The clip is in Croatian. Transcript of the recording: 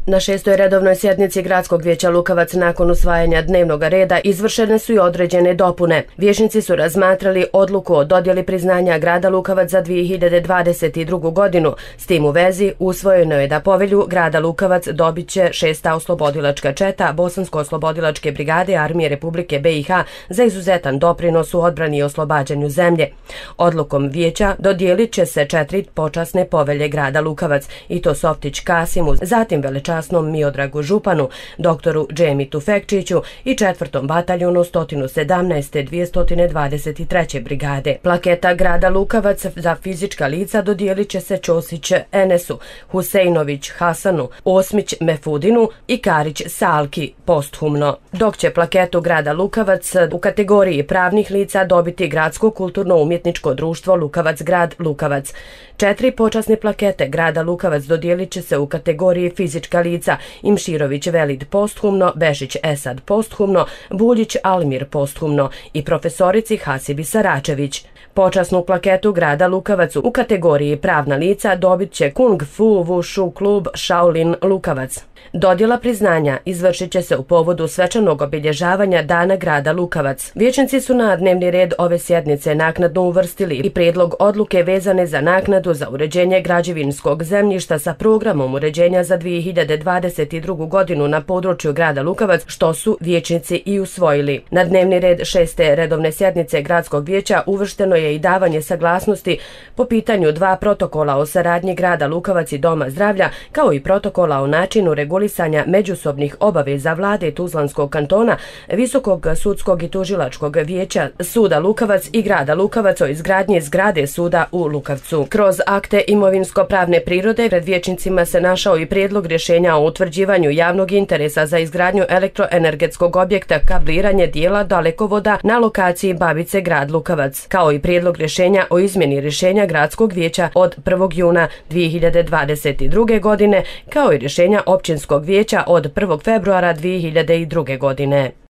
Na 6. redovnoj sjednici Gradskog vijeća Lukavac nakon usvajanja dnevnog reda izvršene su i određene dopune. Vijećnici su razmatrali odluku o dodjeli priznanja grada Lukavac za 2022. godinu. S tim u vezi usvojeno je da povelju grada Lukavac dobit će 6. oslobodilačka četa Bosansko-oslobodilačke brigade Armije Republike BiH za izuzetan doprinos u odbrani i oslobađanju zemlje. Odlukom vijeća dodijelit će se 4 počasne povelje grada Lukavac, i to Softić Kasimu, zatim velečasnom Miodragu Županu, doktoru Džemi Tufekčiću i 4. bataljunu 117. 223. brigade. Plaketa grada Lukavac za fizička lica dodijelit će se Ćosić Enesu, Huseinović Hasanu, Osmić Mefudinu i Karić Salki posthumno, dok će plaketu grada Lukavac u kategoriji pravnih lica dobiti Gradsko kulturno-umjetničko društvo Lukavac grad Lukavac. 4 počasne plakete grada Lukavac dodijelit će se u kategoriji fizička lica Imširović Velid posthumno, Bešić Esad posthumno, Buljić Almir posthumno i profesorici Hasibi Saračević. Počasnu plaketu grada Lukavac u kategoriji pravna lica dobit će Kung Fu Wushu klub Shaolin Lukavac. Dodjela priznanja izvršit će se u povodu svečanog obilježavanja Dana grada Lukavac. Vijećnici su na dnevni red ove sjednice naknadno uvrstili i prijedlog odluke vezane za naknadu za uređenje građevinskog zemljišta sa programom uređenja za 2022. godinu na području grada Lukavac, što su vijećnici i usvojili. Na dnevni red 6. redovne sjednice Gradskog vijeća uvršteno je i davanje saglasnosti po pitanju 2 protokola o saradnji grada Lukavac i Doma zdravlja, kao i protokola o načinu regulisanja međusobnih obaveza vlade Tuzlanskog kantona, Visokog sudskog i tužilačkog vijeća suda Lukavac i grada Lukavac o izgradnji zgrade suda u Lukavcu. Kroz akte imovinsko-pravne prirode pred vijećnicima se našao i prijedlog rješenja o utvrđivanju javnog interesa za izgradnju elektroenergetskog objekta kabliranje dijela dalekovoda na lokaciji Babice grad Lukavac, kao i prijedlog rješenja o izmjeni rješenja Gradskog vijeća od 1. juna 2022. godine, kao i rješenja Općinskog vijeća od 1. februara 2002. godine.